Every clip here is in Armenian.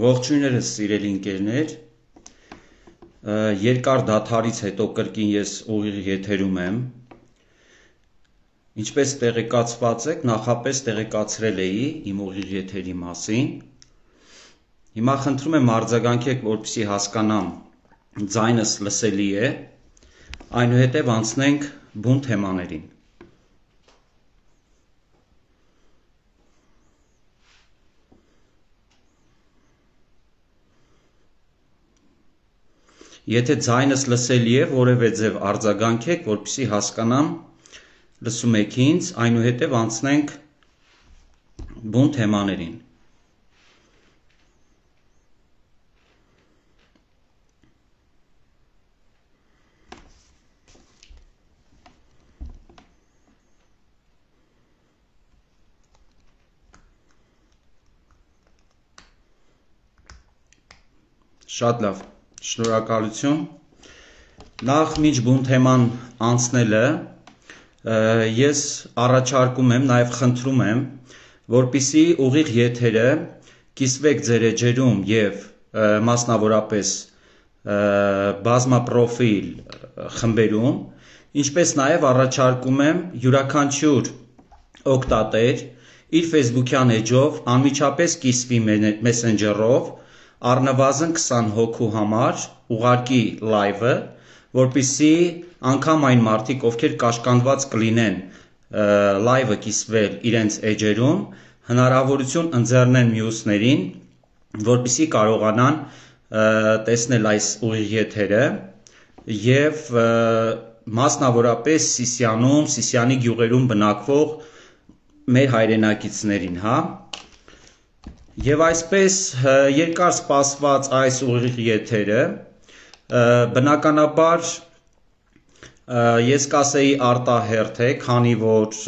Ողջույններս սիրելի ընկերներ, երկար դադարից հետո կրկին ես ուղիղ եթերում եմ, ինչպես տեղեկացված եք, նախապես տեղեկացրել էի իմ ուղիղ եթերի մասին, հիմա խնդրում եմ արձագանքեք, որպեսզի հասկանամ ձայնս լսելի է, այնուհետև անցնենք բուն թեմաներին։ Եթե ձայնս լսելի է, որևէ ձև արձագանքեք, որպեսզի հասկանամ, լսում եք ինձ, այնուհետև անցնենք բուն թեմաներին։ Շատ լավ, շնորհակալություն։ Նախ մինչ բուն թեման անցնելը ես առաջարկում եմ, նաև խնդրում եմ, որպեսզի ուղիղ եթերը կիսվեք ձեր էջերում եւ մասնավորապես բազմապրոֆիլ խմբերում, ինչպես նաև առաջարկում եմ յուրաքանչյուր օգտատեր իր Facebook-յան էջով անմիջապես կիսվի Messenger-ով առնվազն 20 հոգու համար ուղարկի լայվը, որպեսզի անգամ այն մարդիկ, ովքեր կաշկանդված կլինեն լայվը կիսվել իրենց էջերում, հնարավորություն ընձեռնեն մյուսներին, որպեսզի կարողանան տեսնել այս ուղիղ եթերը եւ մասնավորապես Սիսիանում, Սիսիանի գյուղերում բնակվող մեր հայրենակիցներին, հա։ Եվ այսպես երկար սպասված այս ուղիղ եթերը բնականաբար ես կասեի արտահերթ է, քանի որ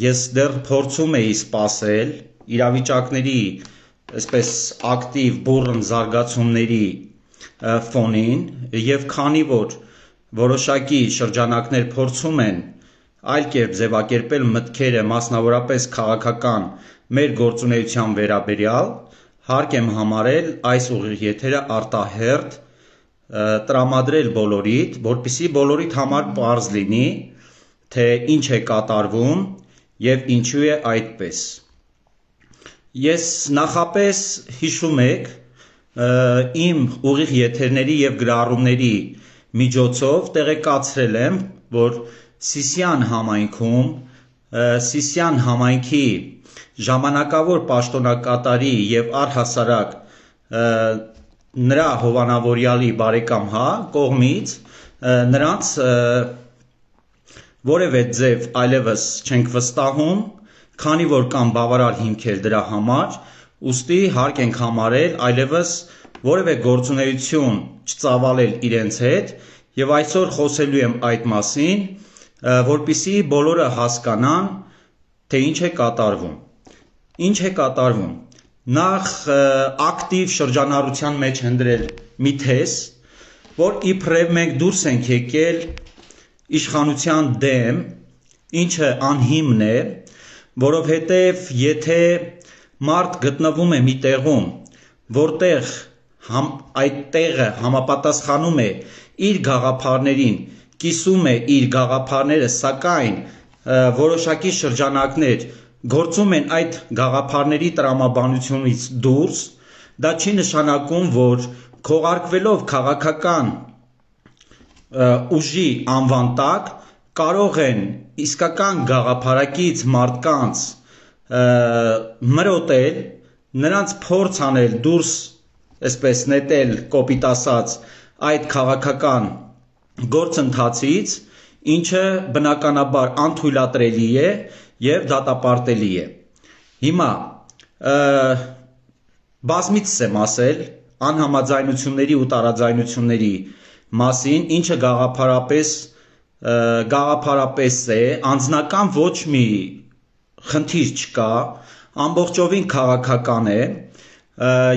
ես դեռ փորձում էի սպասել իրավիճակների այսպես ակտիվ բուռն զարգացումների ֆոնին եւ քանի որ որոշակի շրջանակներ փորձում են այլ կերպ ձևակերպել մտքերը մասնավորապես քաղաքական մեր գործունեության վերաբերյալ հարկ եմ համարել այս ուղիղ եթերը արտահերթ տրամադրել բոլորիդ, որպեսզի բոլորիդ համար պարզ լինի, թե ինչ է կատարվում եւ ինչու է այդպես։ Ես նախապես հիշում եք իմ ուղիղ եթերների եւ գրառումների միջոցով տեղեկացրել եմ, որ Սիսիան համայնքում, Սիսիան համայնքի ժամանակավոր պաշտոնակատարի եւ առհասարակ նրա հովանավորյալի բարեկամ կողմից նրանց որևէ ձև այլևս չենք վստահում, քանի որ կան բավարար հիմքեր դրա համար, ուստի հարկ ենք համարել այլևս որևէ գործունեություն չծավալել իրենց հետ եւ այսօր խոսելու եմ այդ մասին, որպեսզի բոլորը հասկանան, թե ինչ է կատարվում։ Ինչ է կատարվում։ Նախ ակտիվ շրջանառության մեջ հնդրել մի թես, որ իբրև մենք դուրս ենք եկել իշխանության դեմ, ինչը անհիմն է, որովհետև եթե մարդ գտնվում է մի տեղում, որտեղ այդ տեղը համապատասխանում է իր գաղափարներին, կիսում է իր գաղափարները, սակայն որոշակի շրջանակներ գործում են այդ գաղափարների տրամաբանությունից դուրս, դա չի նշանակում, որ քողարկվելով քաղաքական ուժի անվան տակ կարող են իսկական գաղափարակից մարդկանց մրոտել, նրանց փորձ անել դուրս, այսպես նետել, կոպիտ ասած, այդ քաղաքական գործընթացից, ինչը բնականաբար անթույլատրելի է եւ դատապարտելի է։ Հիմա բազմիցս եմ ասել անհամաձայնությունների ու տարաձայնությունների մասին, ինչը գաղափարապես է, անձնական ոչ մի խնդիր չկա, ամբողջովին քաղաքական է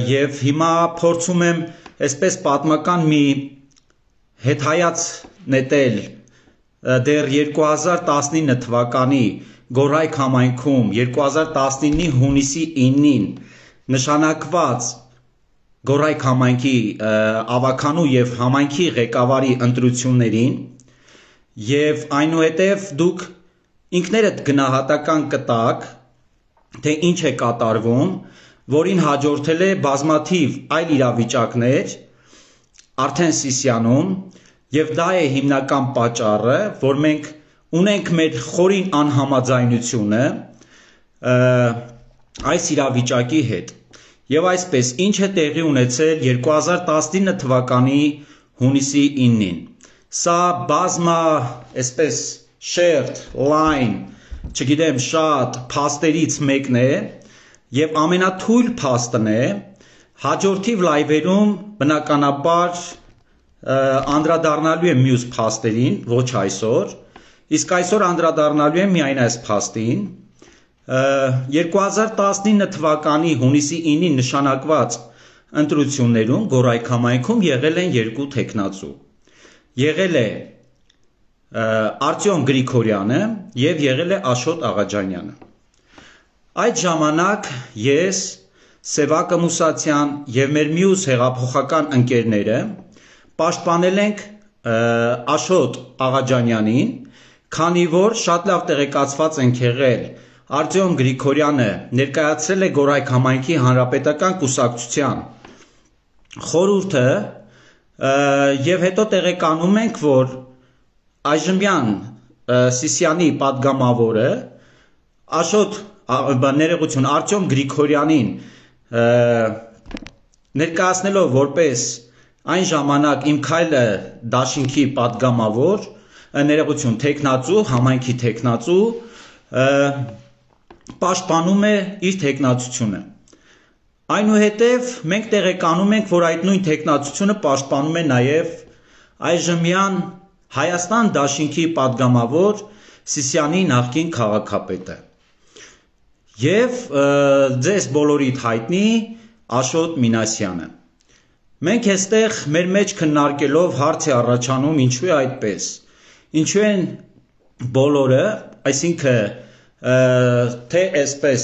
եւ հիմա փորձում եմ այսպես պատմական մի հետհայաց նետել դեռ 2019 թվականի Գորայք համայնքում 2019-ի հունիսի 9-ին նշանակված Գորայք համայնքի ավականու եւ համայնքի ղեկավարի ընտրություններին եւ այնուհետեւ դուք ինքներդ գնահատական կտաք, թե ինչ է կատարվում, որին հաջորդել է բազմաթիվ այլ իրավիճակներ արդեն Սիսիանում եւ դա է հիմնական պատճառը, որ մենք ունենք մեր խորին անհամաձայնությունը այս իրավիճակի հետ։ Եվ այսպես, ինչ է տեղի ունեցել 2019 թվականի հունիսի 9-ին։ Սա բազմա, այսպես, շերտ, լայն, չգիտեմ, շատ փաստերից մեկն է եւ ամենաթույլ փաստն է, հաջորդիվ լայվերում բնականաբար անդրադառնալու եմ մյուս փաստերին, ոչ այսօր, իսկ այսօր անդրադառնալու եմ միայն այս փաստին։ 2019 թվականի հունիսի 9-ին նշանակված ընտրություններում Գորայք համայնքում եղել են երկու թեկնածու։ Եղել է Արտյոմ Գրիգորյանը եւ եղել է Աշոտ Աղաջանյանը։ Այդ ժամանակ ես, Սևակը Մուսացյան եւ մեր մյուս հեղափոխական ընկերները պաշտպանել ենք Աշոտ Աղաջանյանին, քանի որ շատ լավ տեղեկացված ենք եղել Արտյոմ Գրիգորյանը ներկայացրել է Գորայք համայնքի հանրապետական կուսակցության խորհուրդը եւ հետո տեղեկանում ենք, որ այժմյան Սիսիանի падգամավորը Արտյոմ Գրիգորյանին ներկայացնելով որպես այն ժամանակ Իմ քայլը դաշինքի падգամավոր, թեկնածու, համայնքի թեկնածու պաշտպանում է իր թեկնածությունը։ Այնուհետև մենք տեղեկանում ենք, որ այդ նույն թեկնածությունը պաշտպանում է նաև այժմյան Հայաստան դաշինքի падգամավոր Սիսիանի նախկին քաղաքապետը եւ ձեզ բոլորիդ հայտնի Աշոտ Մինասյանը։ Մենք այստեղ մեր մեջ քննարկելով հարց է առաջանում ինչու է այդպես։ Ինչու են բոլորը, այսինքն թե այսպես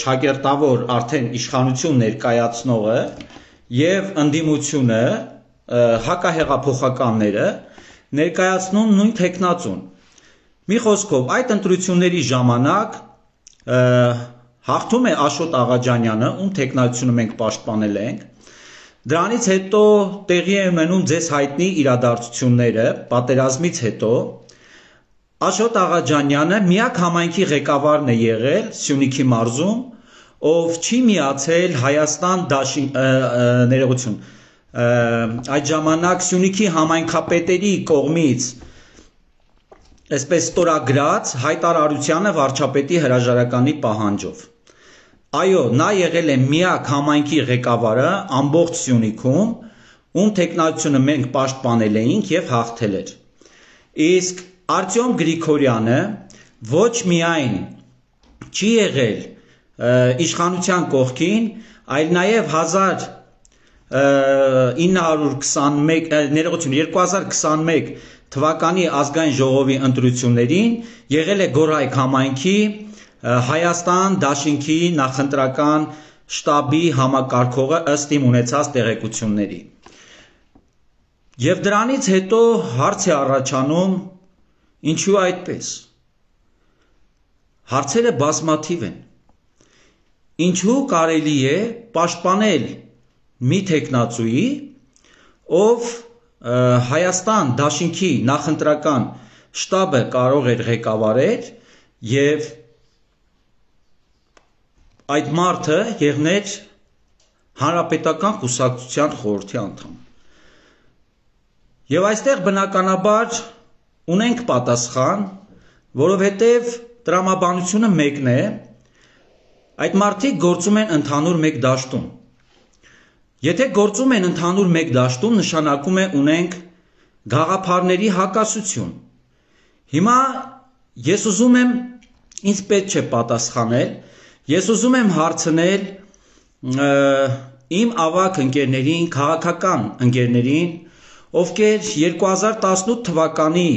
ճակերտավոր արդեն իշխանություն ներկայացնողը եւ ընդդիմությունը հակահեղափոխականները ներկայացնում նույն թեկնածուն։ Մի խոսքով այդ ընտրությունների ժամանակ հաղթում է Աշոտ Աղաջանյանը, ում թեկնածությունը մենք պաշտպանել ենք։ Դրանից հետո տեղի է ունենում ձեզ հայտնի իրադարձությունները պատերազմից հետո Աշոտ Աղաջանյանը միակ համայնքի ղեկավարն է եղել Սյունիքի մարզում, ով չի միացել Հայաստան այդ ժամանակ Սյունիքի համայնքապետերի կողմից այսպես ստորագրած հայտարարությանը վարչապետի հրաժարականի պահանջով։ Այո, նա եղել է միակ համայնքի ղեկավարը ամբողջ Սյունիքում, ում թեկնածությունը մենք պաշտպանել էինք եւ հաղթել էր։ Իսկ Արտյոմ Գրիգորյանը ոչ միայն չի եղել իշխանության կողքին, այլ նաև 2021 թվականի ազգային ժողովի ընտրություններին եղել է Գորայք համայնքի Հայաստան դաշինքի նախընտրական շտաբի համակարգողը ըստ իմ ունեցած տեղեկությունների։ Եվ դրանից հետո հարց է առաջանում ինչու այդպես։ Հարցերը բազմաթիվ են։ Ինչու կարելի է պաշտպանել մի թեկնածուի, ով Հայաստան դաշինքի նախընտրական շտաբը կարող էր ղեկավարել եւ այդ մարդը եղներ հանրապետական կուսակցության խորհրդի անդամ։ Եվ այստեղ բնականաբար ունենք պատասխան, որովհետև տրամաբանությունը մեկն է, այդ մարդիկ գործում են ընդհանուր մեկ դաշտում։ Եթե գործում են ընդհանուր մեկ դաշտում, նշանակում է ունենք գաղափարների հակասություն։ Հիմա ես ուզում եմ, ինձ պետք չէ պատասխանել, ես ուզում եմ հարցնել իմ ավագ ընկերներին, քաղաքական ընկերներին, ովքեր 2018 թվականի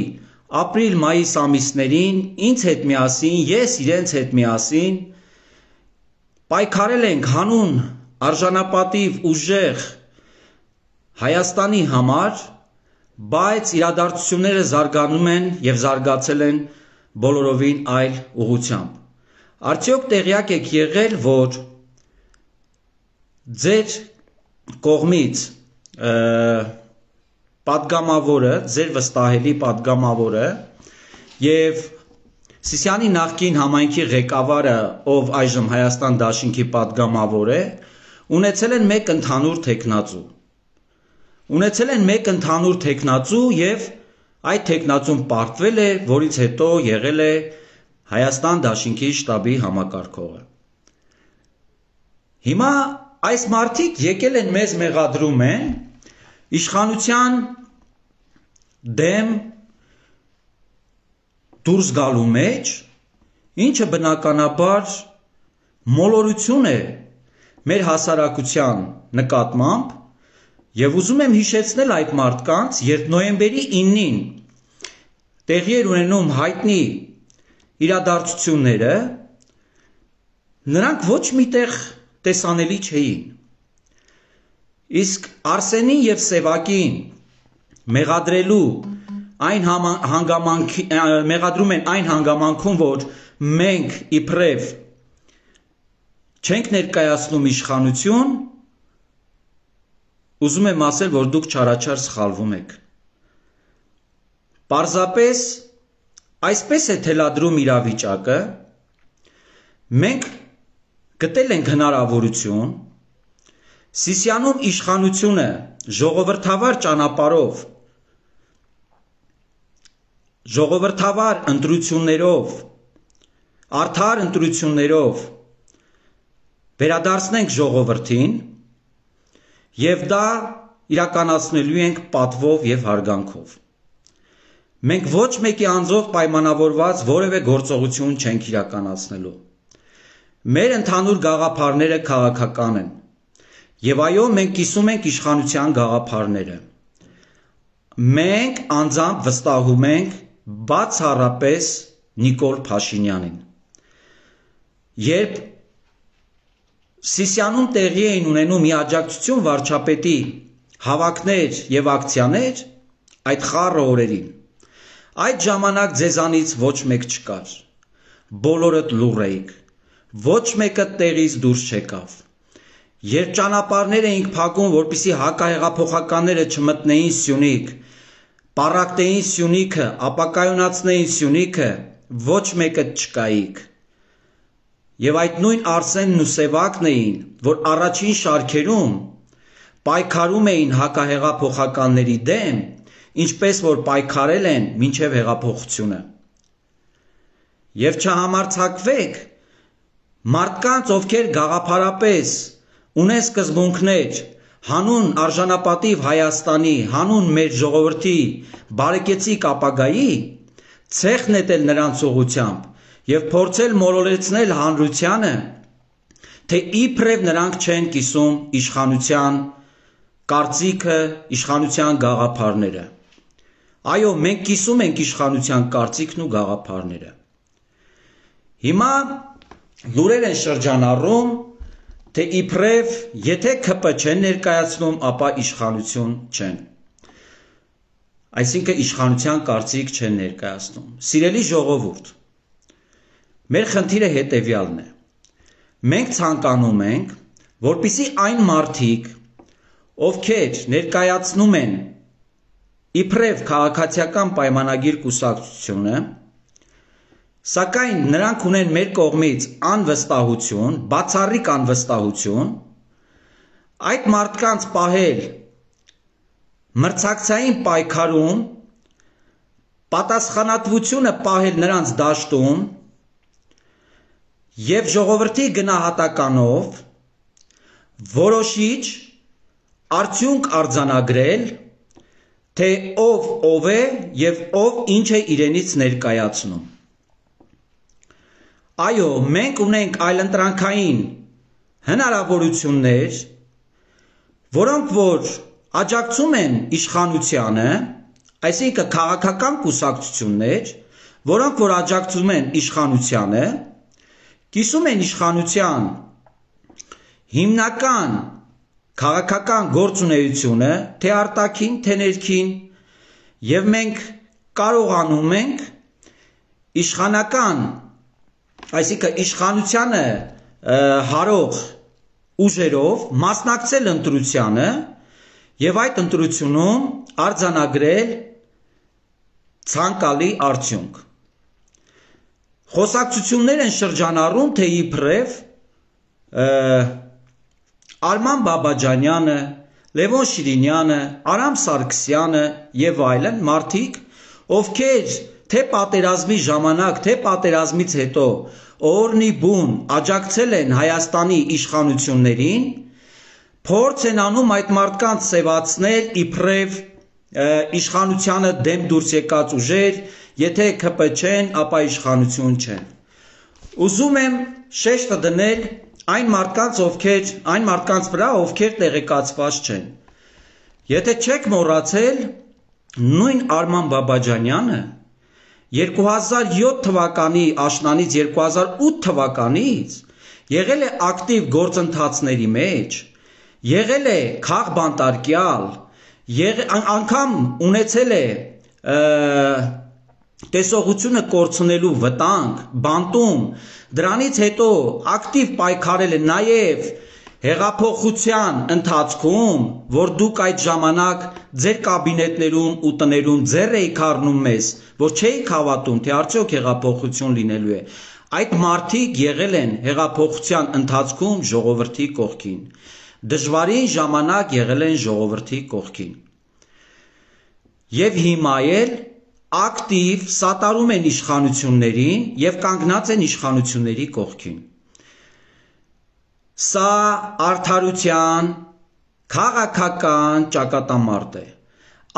ապրիլ-մայիս ամիսներին ինձ հետ միասին, ես իրենց հետ միասին պայքարել ենք հանուն արժանապատիվ, ուժեղ Հայաստանի համար, բայց իրադարձությունները զարգանում են եւ զարգացել են բոլորովին այլ ուղղությամբ։ Արդյոք տեղյակ եք եղել, որ ձեր կողմից պատգամավորը, ձեր վստահելի պատգամավորը եւ Սիսիանի նախկին համայնքի ղեկավարը, ով այժմ Հայաստան Դաշինքի պատգամավոր է, ունեցել են մեկ ընդհանուր թեկնածու։ Ունեցել են մեկ ընդհանուր թեկնածու եւ այդ թեկնածուն պարտվել է, որից հետո եղել է Հայաստան Դաշինքի շտաբի համակարգողը։ Հիմա այս մարդիկ եկել են մեզ մեղադրում են իշխանության դեմ դուրս գալու մեջ, ինչը բնականաբար մոլորություն է մեր հասարակության նկատմամբ եւ ուզում եմ հիշեցնել այդ մարդկանց, երբ նոյեմբերի 9-ին տեղի էր ունենում հայտնի իրադարձությունները, նրանք ոչ միտեղ տեսանելի չէին։ Իսկ Արսենին եւ Սևակին մեղադրելու այն մեղադրում են այն հանգամանքում, որ մենք իբրև չենք ներկայացնում իշխանություն, ուզում եմ ասել, որ դուք չարաչար սխալվում եք։ Պարզապես այսպես է թելադրում իրավիճակը, մենք գտել ենք հնարավորություն Սիսիանում իշխանությունը ժողովրդավար ճանապարհով, ժողովրդավար ընտրություններով, արդար ընտրություններով վերադարձնենք ժողովրդին եւ դա իրականացնելու ենք պատվով եւ հարգանքով։ Մենք ոչ մեկի անձով պայմանավորված որևէ գործողություն չենք իրականացնելու։ Մեր ընդհանուր գաղափարները քաղաքական են։ Եվ այո, մենք կիսում ենք իշխանության գաղափարները։ Մենք անձամբ վստահում ենք բացառապես Նիկոլ Փաշինյանին։ Երբ Սիսիանում տեղի էին ունենում մի աջակցություն վարչապետի հավաքներ եւ ակցիաներ, այդ խառը օրերին, այդ ժամանակ ձեզանից ոչ մեկ չկար, բոլորդ լուռ էիք, ոչ մեկը տեղից դուրս չեկավ։ Երբ ճանապարհներ էինք փակում, որպեսզի հակահեղափոխականները չմտնեին Սյունիք, պառակտեին Սյունիքը, ապակայունացնեին Սյունիքը, ոչ մեկը չկայիք։ Եվ այդ նույն Արսենն ու Սևակն էին, որ առաջին շարքերում պայքարում էին հակահեղափոխականների դեմ, ինչպես որ պայքարել են մինչև հեղափոխությունը։ Եվ չհամարձակվեք մարդկանց, ովքեր գաղափարապես ունեն սկզբունքներ հանուն արժանապատիվ Հայաստանի, հանուն մեր ժողովրդի բարեկեցիկ ապագայի, ցեխ նետել նրանց ուղղությամբ եւ փորձել մոլորեցնել հանրությանը, թե իբրև նրանք չեն կիսում իշխանության կարծիքը, իշխանության գաղափարները։ Այո, մենք կիսում ենք իշխանության կարծիքն ու գաղափարները։ Հիմա լուրեր են շրջանառում, թե իբրև եթե ԿՊ չեն ներկայացնում, ապա իշխանություն չեն։ Այսինքն իշխանության կարծիք չեն ներկայացնում։ Սիրելի ժողովուրդ, մեր խնդիրը հետևյալն է։ Մենք ցանկանում ենք, որպեսզի այն մարդիկ, ովքեր ներկայացնում են իբրև քաղաքացիական պայմանագիր կուսակցությունը, սակայն նրանք ունեն մեր կողմից անվստահություն, բացառիկ անվստահություն, այդ մարդկանց պահել մրցակցային պայքարում, պատասխանատվությունը պահել նրանց դաշտում եւ ժողովրդի գնահատականով որոշիչ արդյունք արձանագրել, թե ով է եւ ով ինչ է իրենից ներկայացնում։ Այո, մենք ունենք այլընտրանքային հնարավորություններ, որոնք որ աջակցում են իշխանությանը, այսինքն քաղաքական կուսակցություններ, որոնք որ աջակցում են իշխանությանը, կիսում են իշխանության հիմնական քաղաքական գործունեությունը թե արտաքին, թե ներքին, եւ մենք կարողանում ենք իշխանական, այսինքն իշխանությանը հարող ուժերով մասնակցել ընտրությանը եւ այդ ընտրությունում արձանագրել ցանկալի արդյունք։ Խոսակցություններ են շրջանառում, թե իբրև Արման Բաբաջանյանը, Լևոն Շիրինյանը, Արամ Սարգսյանը եւ այլն մարդիկ, ովքեր թե պատերազմի ժամանակ, թե պատերազմից հետո օրնի բուն աջակցել են Հայաստանի իշխանություններին, փորձ են անում այդ մարդկանց սևացնել իբրև իշխանությանը դեմ դուրս եկած ուժեր, եթե ԿՊ չեն, ապա իշխանություն չեն։ Ուզում եմ շեշտը դնել այն մարդկանց վրա, ովքեր տեղեկացված չեն։ Եթե չեք մոռացել, նույն Արման Բաբաջանյանը 2007 թվականի աշնանից 2008 թվականից եղել է ակտիվ գործընթացների մեջ, եղել է քաղբանտարկյալ, անգամ ունեցել է տեսողությունը կորցնելու վտանգ, բանտում, դրանից հետո ակտիվ պայքարել է նաև հեղափոխության ընթացքում, որ դուք այդ ժամանակ ձեր կաբինետներում ու տներում ձեռ էիք առնում մեզ, որ չէիք հավատում, թե արդյոք հեղափոխություն լինելու է։ Այդ մարդիկ եղել են հեղափոխության ընթացքում ժողովրդի կողքին, դժվարին ժամանակ եղել են ժողովրդի կողքին։ Եվ հիմա էլ ակտիվ սատարում են իշխանություններին եւ կանգնած են իշխանությունների կողքին։ Սա արդարության քաղաքական ճակատամարտ է։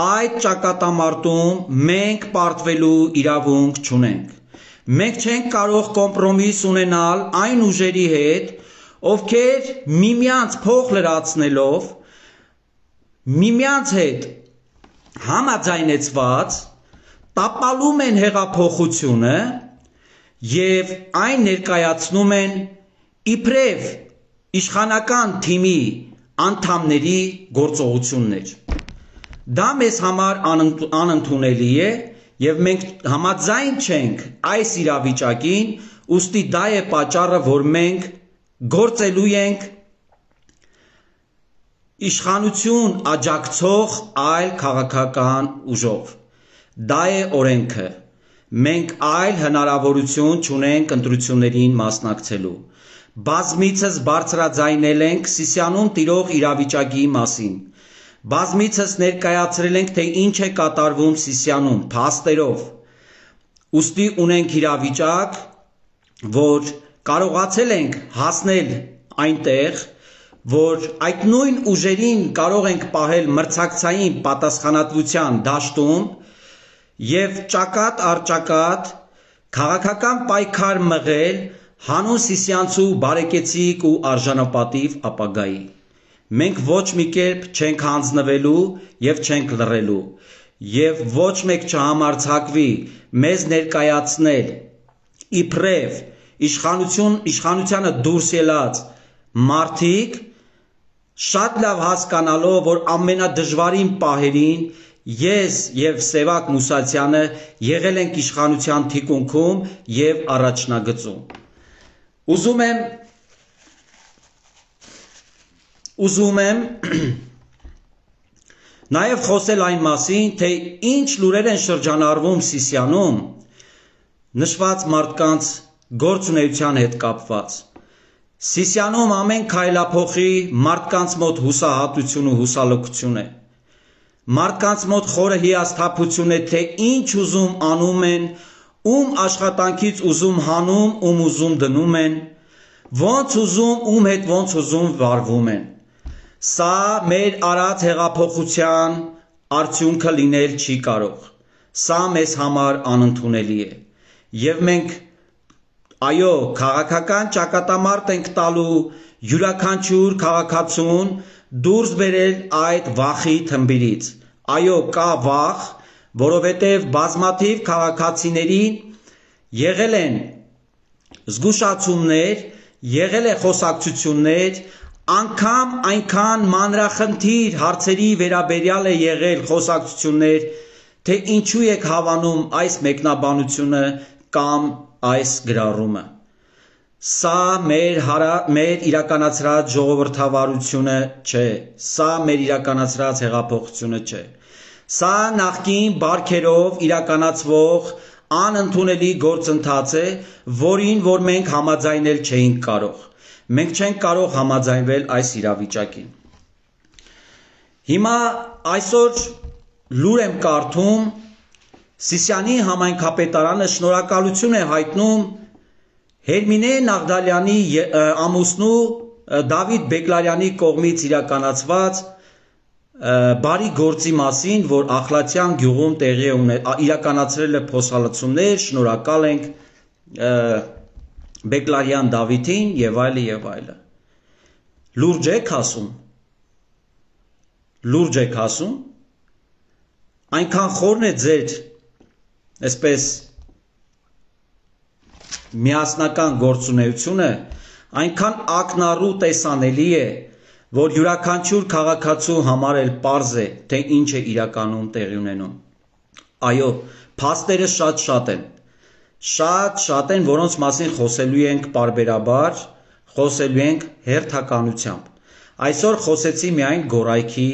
Այդ ճակատամարտում մենք պարտվելու իրավունք չունենք։ Մենք չենք կարող կոմպրոմիս ունենալ այն ուժերի հետ, ովքեր միմյանց փող լրացնելով, միմյանց հետ համաձայնեցված տապալում են հեղափոխությունը եւ այն ներկայացնում են իբրև իշխանական թիմի անդամների գործողություններ։ Դա մեզ համար անընդունելի է եւ մենք համաձայն չենք այս իրավիճակին, ուստի դա է պատճառը, որ մենք գործելու ենք իշխանություն աջակցող այլ քաղաքական ուժով։ Դա է օրենքը։ Մենք այլ հնարավորություն չունենք ընտրություններին մասնակցելու։ Բազմիցս բարձրաձայնել ենք Սիսիանում տիրող իրավիճակի մասին։ Բազմիցս ներկայացրել ենք, թե ինչ է կատարվում Սիսիանում, փաստերով։ Ուստի ունենք իրավիճակ, որ կարողացել ենք հասնել այնտեղ, որ այդ նույն ուժերին կարող ենք պահել մրցակցային պատասխանատվության դաշտում եւ ճակատ առ ճակատ քաղաքական պայքար մղել հանուն սիսյանցու բարեկեցիկ ու արժանապատիվ ապագայի։ Մենք ոչ մի կերպ չենք հանձնվելու եւ չենք լռելու եւ ոչ մեկ չհամարձակվի մեզ ներկայացնել իբրև իշխանությանը դուրս ելած մարդիկ, շատ լավ հասկանալով, որ ամենադժվարին պահերին ես եւ Սևակ Մուսացյանը եղել ենք իշխանության թիկունքում եւ առաջնագծում։ Ուզում եմ նաեւ խոսել այն մասին, թե ինչ լուրեր են շրջանառվում Սիսիանում նշված մարդկանց գործունեության հետ կապված։ Սիսիանում ամեն քայլափոխի մարդկանց մոտ հուսահատություն ու հուսալքություն է։ Մարդկանց մոտ խորը հիասթափություն է, թե ինչ ուզում անում են, ում աշխատանքից ուզում հանում, ում ուզում դնում են, ոնց ուզում, ում հետ ոնց ուզում վարվում են։ Սա մեր արած հեղափոխության արդյունքը լինել չի կարող։ Սա մեզ համար անընդունելի է։ Եվ մենք այո, քաղաքական ճակատամարտ ենք տալու յուրաքանչյուր քաղաքացուն դուրս բերել այդ վախի թմբիրից։ Այո, կա վախ, որովհետև բազմաթիվ քաղաքացիների եղել են զգուշացումներ, եղել է խոսակցություններ, անգամ այնքան մանրախնդիր հարցերի վերաբերյալ է եղել խոսակցություններ, թե ինչու եք հավանում այս մեկնաբանությունը կամ այս գրառումը։ Սա մեր իրականացրած ժողովրդավարությունը չէ, սա մեր իրականացրած հեղափոխությունը չէ։ Սա նախկին բարքերով իրականացվող անընդունելի գործընթաց է, որին որ մենք համաձայնել չէինք կարող։ Մենք չենք կարող համաձայնվել այս իրավիճակին։ Հիմա այսօր լուր եմ կարդում, Սիսիանի համայնքապետարանը շնորհակալություն է հայտնում Հերմինե Նաղդալյանի ամուսնու Դավիթ Բեկլարյանի կողմից իրականացված բարի գործի մասին, որ Ախլատյան գյուղում տեղի իրականացրել է փոսալցումներ, շնորհակալ ենք Բեկլարյան Դավիթին եւ այլը եւ այլը։ Լուրջ եք ասում։ Լուրջ եք ասում։ Այնքան խորն է ձեր այսպես միասնական գործունեությունը, այնքան ակնառու տեսանելի է, որ յուրաքանչյուր քաղաքացու համար էլ պարզ է, թե ինչ է իրականում տեղի ունենում։ Այո, փաստերը շատ են։ Շատ են, որոնց մասին խոսելու ենք պարբերաբար, խոսելու ենք հերթականությամբ։ Այսօր խոսեցի միայն Գորայքի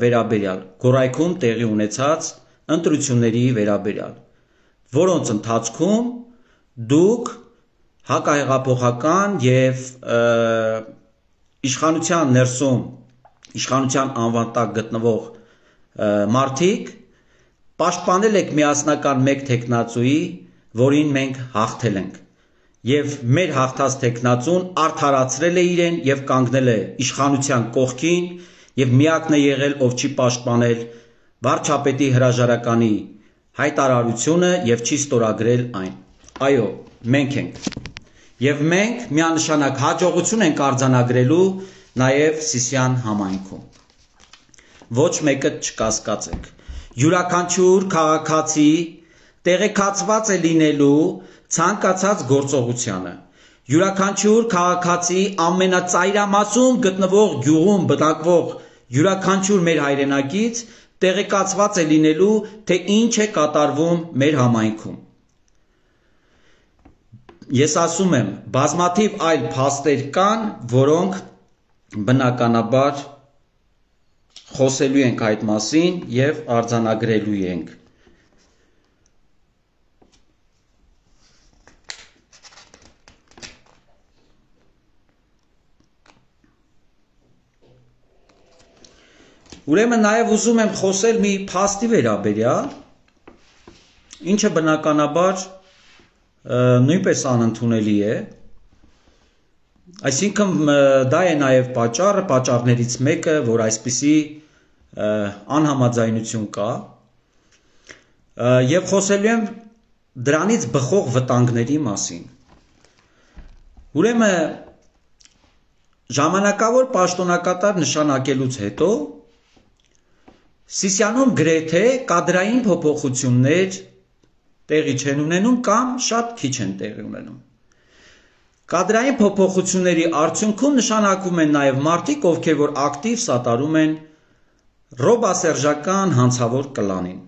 վերաբերյալ, Գորայքում տեղի ունեցած ընտրությունների վերաբերյալ, որոնց ընթացքում դուք հակահեղափոխական եւ իշխանության ներսում, իշխանության անվան տակ գտնվող մարդիկ պաշտպանել եք միասնական մեկ թեկնածուի, որին մենք հաղթել ենք, եւ մեր հաղթած թեկնածուն արդարացրել է իրեն եւ կանգնել է իշխանության կողքին եւ միակն է եղել, ով չի պաշտպանել վարչապետի հրաժարականի հայտարարությունը եւ չի ստորագրել այն։ Այո, մենք ենք։ Եվ մենք միանշանակ հաջողություն ենք արձանագրելու նաեւ Սիսիան համայնքում։ Ոչ մեկը չկասկածեք։ Յուրաքանչյուր քաղաքացի տեղեկացված է լինելու ցանկացած գործողությանը։ Յուրաքանչյուր քաղաքացի ամենածայրամասում գտնվող գյուղում բնակվող յուրաքանչյուր մեր հայրենակից տեղեկացված է լինելու, թե ինչ է կատարվում մեր համայնքում։ Ես ասում եմ, բազմաթիվ այլ փաստեր կան, որոնք բնականաբար խոսելու ենք այդ մասին եւ արձանագրելու ենք։ Ուրեմն նաև ուզում եմ խոսել մի փաստի վերաբերյալ, ինչը բնականաբար նույնպես անընդունելի է, այսինքն դա է նաև պատճառներից մեկը, որ այսպիսի անհամաձայնություն կա, եւ խոսելու եմ դրանից բխող վտանգների մասին։ Ուրեմն ժամանակավոր պաշտոնակատար նշանակելուց հետո Սիսիանում գրեթե կադրային փոփոխություններ տեղի չեն ունենում կամ շատ քիչ են տեղի ունենում։ Կադրային փոփոխությունների արդյունքում նշանակվում են նաև մարդիկ, ովքեր որ ակտիվ սատարում են ռոբասերժական հանցավոր կլանին,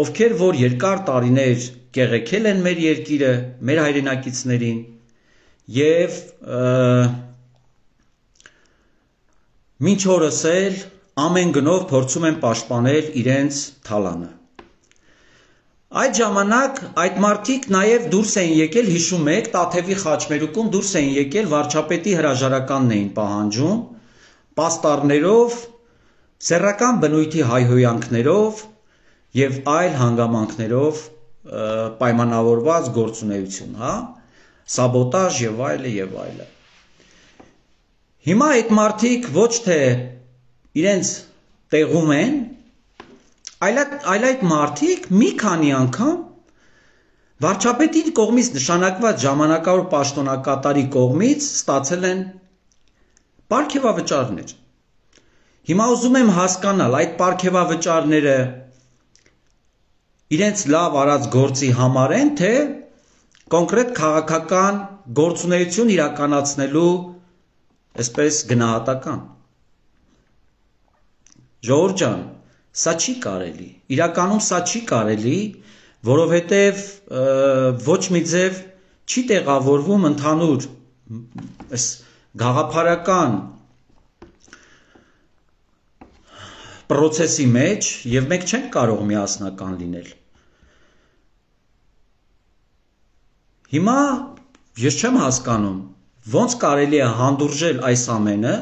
ովքեր որ երկար տարիներ կեղեքել են մեր երկիրը, մեր հայրենակիցներին եւ մինչ օրս էլ ամեն գնով փորձում են պաշտպանել իրենց թալանը։ Այդ ժամանակ այդ մարդիկ նաև դուրս էին եկել, հիշում եք, Տաթևի խաչմերուկում դուրս էին եկել վարչապետի հրաժարականն էին պահանջում, պաստառներով, սեռական բնույթի հայհոյանքներով եւ այլ հանգամանքներով պայմանավորված գործունեություն, հա, սաբոտաժ եւ այլը եւ այլը։ Հիմա այդ մարդիկ ոչ թե իրենց տեղում են, այլ այդ մարդիկ մի քանի անգամ վարչապետի կողմից նշանակված ժամանակավոր պաշտոնակատարի կողմից ստացել են պարգևավճարներ։ Հիմա ուզում եմ հասկանալ, այդ պարգևավճարները իրենց լավ արած գործի համար են, թե կոնկրետ քաղաքական գործունեություն իրականացնելու այսպես գնահատական։ Ժողովուրդ ջան, սա չի կարելի, իրականում սա չի կարելի, որովհետև ոչ մի ձև չի տեղավորվում ընդհանուր այս գաղափարական պրոցեսի մեջ և մենք չենք կարող միասնական լինել։ Հիմա ես չեմ հասկանում, ոնց կարելի է հանդուրժել այս ամենը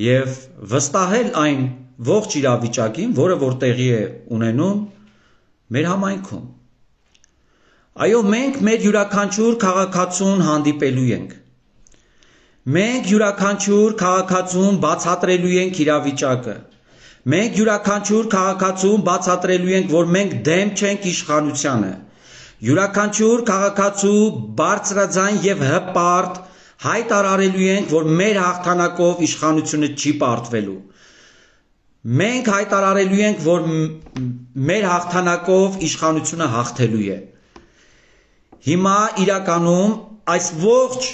և վստահել այն ողջ իրավիճակին, որը որ տեղի է ունենում մեր համայնքում։ Այո, մենք մեր յուրաքանչյուր քաղաքացուն հանդիպելու ենք։ Մենք յուրաքանչյուր քաղաքացուն բացատրելու ենք իրավիճակը։ Մենք յուրաքանչյուր քաղաքացուն բացատրելու ենք, որ մենք դեմ չենք իշխանությանը։ Յուրաքանչյուր քաղաքացու բարձրաձայն և հպարտ հայտարարելու ենք, որ մեր հաղթանակով իշխանությունը չի պարտվելու։ Մենք հայտարարելու ենք, որ մեր հաղթանակով իշխանությունը հաղթելու է։ Հիմա իրականում այս ողջ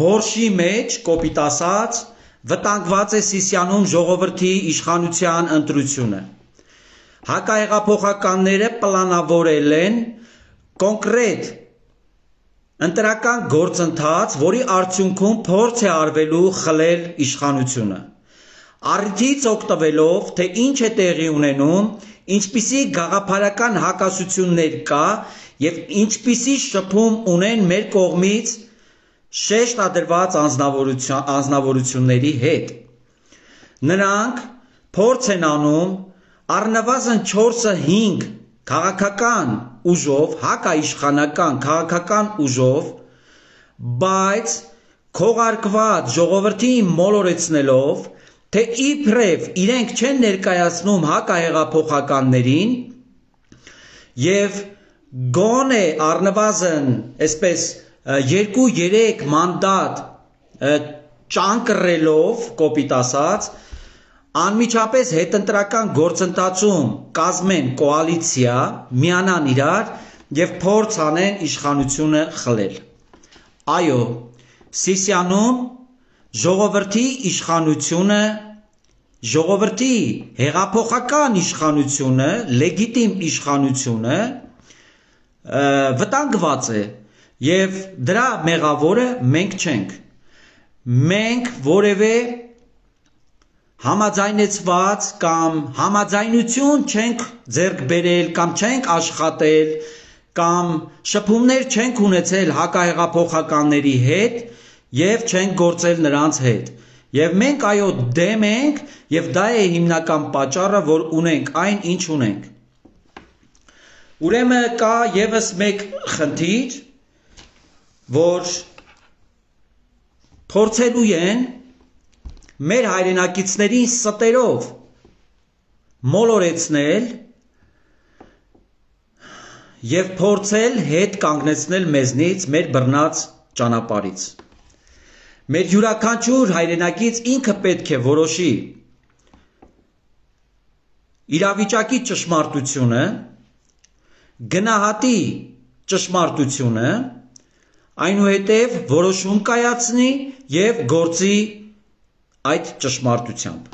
բորշի մեջ, կոպիտ ասած, վտանգված է Սիսիանում ժողովրդի իշխանության ընտրությունը։ Հակահեղափոխականները պլանավորել են կոնկրետ ընտրական գործընթաց, որի արդյունքում փորձ է արվելու խլել իշխանությունը։ Առիթից օգտվելով, թե ինչ է տեղի ունենում, ինչպիսի գաղափարական հակասություններ կա և ինչպիսի շփում ունեն մեր կողմից շեշտադրված անձնավորությունների հետ։ Նրանք փորձ են անում առնվազն 4-5 քաղաքական ուժով, հակաիշխանական քաղաքական ուժով, բայց քողարկված ժողովրդին մոլորեցնելով, թե իբրև իրենք չեն ներկայացնում հակահեղափոխականներին և գոնե առնվազն այսպես 2-3 մանդատ ճանկռելով, կոպիտ ասած, անմիջապես հետընտրական գործընթացում կազմեն կոալիցիա, միանան իրար և փորձ անեն իշխանությունը խլել։ Այո, Սիսիանում ժողովրդի իշխանությունը, ժողովրդի հեղափոխական իշխանությունը, լեգիտիմ իշխանությունը վտանգված է և դրա մեղավորը մենք չենք։ Մենք որևէ համաձայնեցված կամ համաձայնություն չենք ձեռք բերել կամ չենք աշխատել կամ շփումներ չենք ունեցել հակահեղափոխականների հետ և չենք գործել նրանց հետ։ Եվ մենք այո դեմ ենք և դա է հիմնական պատճառը, որ ունենք այն, ինչ ունենք։ Ուրեմն կա ևս մեկ խնդիր, որ փորձելու են մեր հայրենակիցներին ստերով մոլորեցնել և փորձել հետ կանգնեցնել մեզնից մեր բռնած ճանապարհից։ Մեր յուրաքանչյուր հայրենակից ինքը պետք է որոշի իրավիճակի ճշմարտությունը, գնահատի ճշմարտությունը, այնուհետև որոշում կայացնի և գործի այդ ճշմարտությամբ։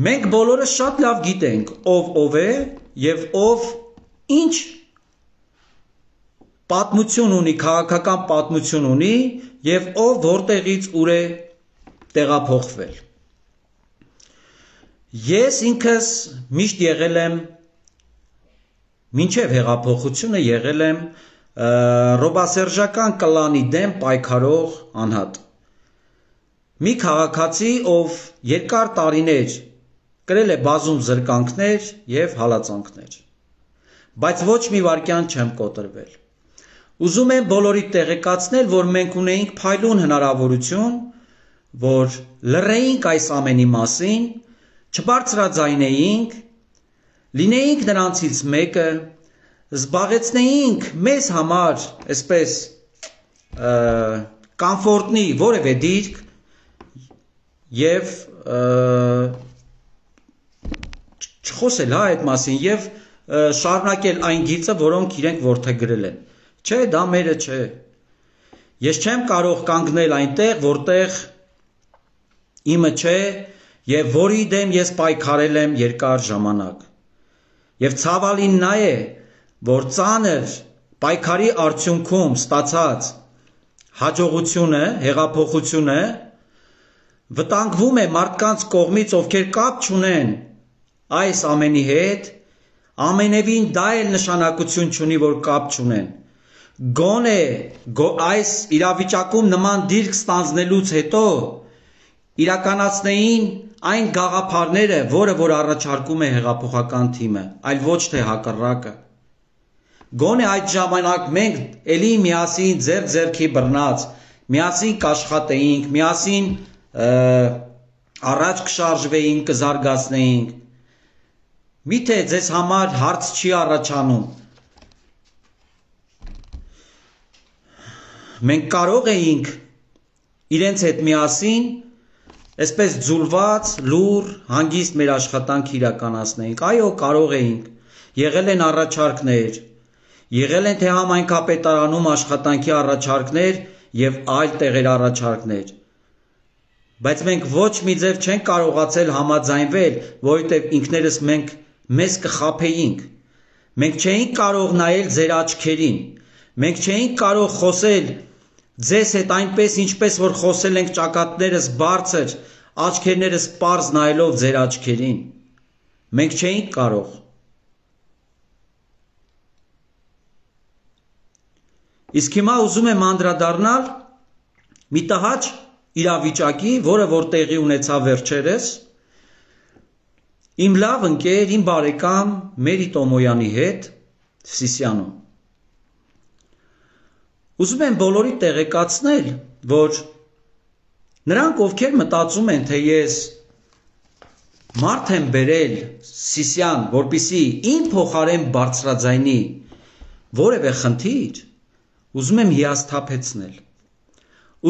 Մենք բոլորը շատ լավ գիտենք ով է և ով ինչ պատմություն ունի, քաղաքական պատմություն ունի և ով որտեղից ուր է տեղափոխվել։ Ես ինքս միշտ եղել եմ, մինչև հեղափոխությունը եղել եմ ռոբասերժական կլանի դեմ պայքարող անհատ։ Մի քաղաքացի, ով երկար տարիներ կրել է բազում զրկանքներ և հալածանքներ, բայց ոչ մի վայրկյան չեմ կոտրվել։ Ուզում եմ բոլորիդ տեղեկացնել, որ մենք ունեինք փայլուն հնարավորություն, որ լռեինք այս ամենի մասին, չբարձրաձայնեինք, լինեինք նրանցից մեկը, զբաղեցնեինք մեզ համար այսպես կոմֆորտնի որևէ դիրք և չխոսել այդ մասին և շարունակել այն գիծը, որոնք իրենք որդեգրել են։ Չէ, դա մերը չէ։ Ես չեմ կարող կանգնել այնտեղ, որտեղ իմը չէ եւ որի դեմ ես պայքարել եմ երկար ժամանակ։ Եվ ցավալին նա է, որ ծանր պայքարի արդյունքում ստացած հաջողությունը, հեղափոխությունը վտանգվում է մարդկանց կողմից, ովքեր կապ չունեն այս ամենի հետ, ամենևին դա էլ նշանակություն չունի, որ կապ չունեն։ Գոնե այս իրավիճակում նման դիրք ստանձնելուց հետո իրականացնեին այն գաղափարները, որը որ առաջարկում է հեղափոխական թիմը, այլ ոչ թե հակառակը։ Գոնե այդ ժամանակ մենք ելի միասին ձեռք-ձեռքի բռնած, միասին կաշխատեինք, միասին առաջ կշարժվեինք, կզարգացնեինք։ Միթե ձեզ համար հարց չի առաջանում։ Մենք կարող էինք իրենց հետ միասին այսպես ձուլված, լուր, հանգիստ մեր աշխատանք իրականացնեինք։ Այո, կարող էինք։ Եղել են առաջարկներ, եղել են թե համայնքապետարանում աշխատանքի առաջարկներ եւ այլ տեղեր առաջարկներ։ Բայց մենք ոչ մի ձև չենք կարողացել համաձայնվել, որովհետեւ ինքներս մենք մեզ կխաբեինք։ Մենք չէինք կարող նայել ձեր աչքերին։ Մենք չէինք կարող խոսել ձեզ հետ այնպես, ինչպես որ խոսել ենք ճակատներս բարձր, աչքերներս պարզ նայելով ձեր աչքերին։ Մենք չէինք կարող։ Իսկ հիմա ուզում եմ անդրադառնալ մի տհաճ իրավիճակի, որը որ տեղի ունեցավ վերջերս, իմ լավ ընկեր, իմ բարեկամ Մերի Տոմոյանի հետ Սիսիանում։ Ուզում եմ բոլորի տեղեկացնել, որ նրանք, ովքեր մտածում են, թե ես մարդ եմ բերել Սիսիան, որպեսզի իմ փոխարեն բարձրաձայնի որևէ խնդիր, ուզում եմ հիասթափեցնել։